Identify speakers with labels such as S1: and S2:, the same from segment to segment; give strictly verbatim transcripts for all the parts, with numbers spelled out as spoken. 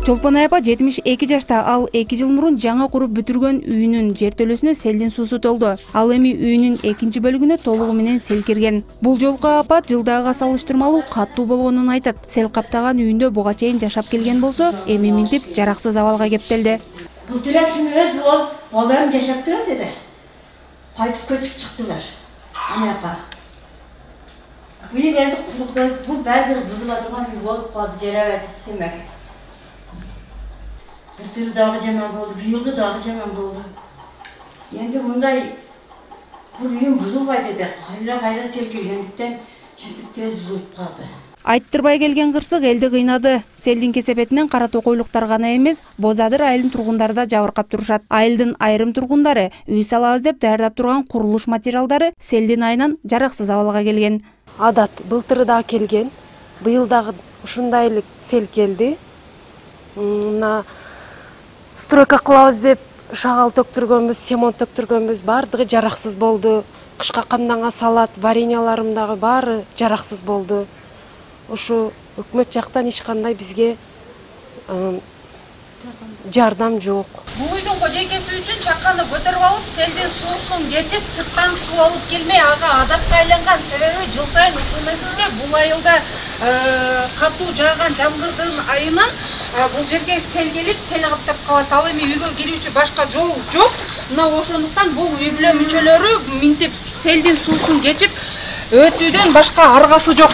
S1: Чолпонай апа жетимиш эки жашта. Ал эки жыл мурун жаңы куруп бүтүргөн үйүнүн жертөлөсүнө селдин суусу толду. Ал эми үйүнүн экинчи бөлүгүнө толугу менен сел кирген. Бул жолку апат жылдагыга салыштырмалуу каттуу болгонун айтат. Сел каптаган үйүндө буга чейин жашап келген болсо, эми минтип жараксыз абалга кептелди.
S2: Бул тирашын өз болуп, балдарым жашап турат эди. Кайтып көчүп чыктылар. Анакка. Бул жерде кулукта бул баары бузула турган үй болуп калды, жарабайт истемек. Былтыр дагы жаман болду, быйылгы дагы жаман болду. Энди мындай бул үйүм бузулбайт эди. Кайра-кайра сел киргендиктен шүтүп тез бузулуп калды.
S1: Айттырбай келген кырсык элди кыйнады. Селдин кесепетинен кара токойлуктар гана эмес, Боз Адыр айылынын тургундары да жабыркап турушат. Айылдын айрым тургундары үй салабыз деп даярдап турган курулуш материалдары селдин айынан жараксыз абалга келген.
S3: Адат былтыры да келген, быйыл дагы ушундай эле сел келди. Мына стройка кылабыз деп шагал төктүргөнбүз, цемент төктүргөнбүз, баардыгы жараксыз болду. Кышка камданга салат, вареньяларым дагы баары жараксыз болду. Ушу өкмөт жактан эч кандай бизге жардам жок.
S4: Бул үйдүн кожойкеси үчүн чаканды көтөрүп алып, селдин суусун кечип, сырттан суу алып келмей, ага адатка айланган. Себеби жыл сайын ушул мезгилде бул айылда катуу жааган жамгырдын айынан бул жерге сел келип, сел каптап калат. Ал эми үйгө кирүүчү башка жол жок. Мына ошондуктан бул үй бүлө мүчөлөрү минтип селдин суусун кечип өтүүдөн башка аргасы жок.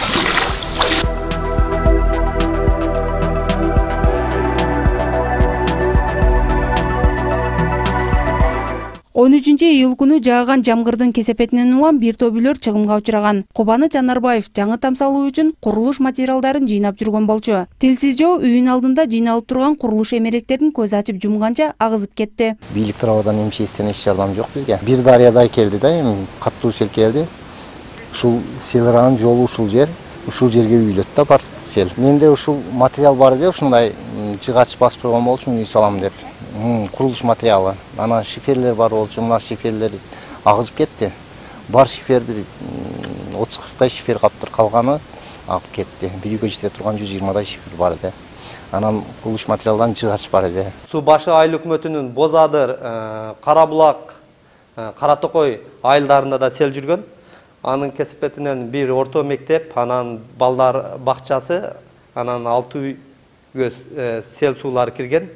S1: он үчүнчү июль күнү жааган жамгырдын кесепетинен улам бир топ үйлөр чыгымга учураган. Кубаны Жанарбаев жаңы там салуу үчүн курулуш материалдарын жыйнап жүргөн болчу. Тилсиз жоо үйүн алдында жыйналып турган курулуш эмеректерин көз ачып жумганча агызып кетти.
S5: Бийлик тарабынан эми эчтен эч жардам жок бизге. Бир дарыядай келди да, эми каттуу сел келди. Ушул селраган жолу ушул жер, ушул жерге үйлөт да бар сел. Менде ушул материал бар деп ушундай жыгач басып койгон болчумун үй салам деп. Курулуш материалы. Анан шиферлер бар болчу, мына шиферлер агызып кетти. Бар шифер бир отуз кырктай шифер каптыр, калганы агып кетти. Bir үйгө жете турган жүз жыйырмадай шифер бар эди. Анан курулуш материалдан жыгач бар эди.
S6: Суу башы айыл өкмөтүнүн Боз Адыр, Кара Булак, Кара Токой айылдарында да сел жүргөн. Анын кесепетинен бир орто мектеп, анан балдар бакчасы, анан алты үйгө сел суулары кирген.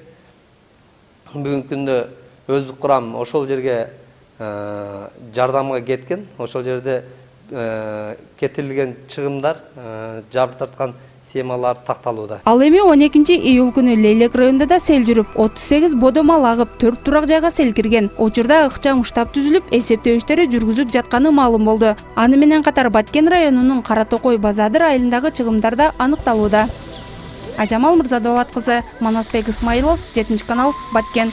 S6: Бүгүнкү күндө өздүк курам ошол жерге жардамга кеткен. Ошол жерде кетирилген чыгымдар, жабыр тарткан схемалар такталууда.
S1: Ал эми он экинчи июль күнү Лейлек районунда да сел жүрүп, отуз сегиз бодомал агып, төрт турак жайга сел кирген. Учурда ыкчам штаб түзүлүп, эсептөө иштери жүргүзүлүп жатканы маалым болду. Аны менен катар Баткен районунун Кара Токой Боз Адыр айылындагы чыгымдар да аныкталууда. Ажамал Мырзадолат кызы, Манасбек Исмаилов, жетинчи канал, Баткен.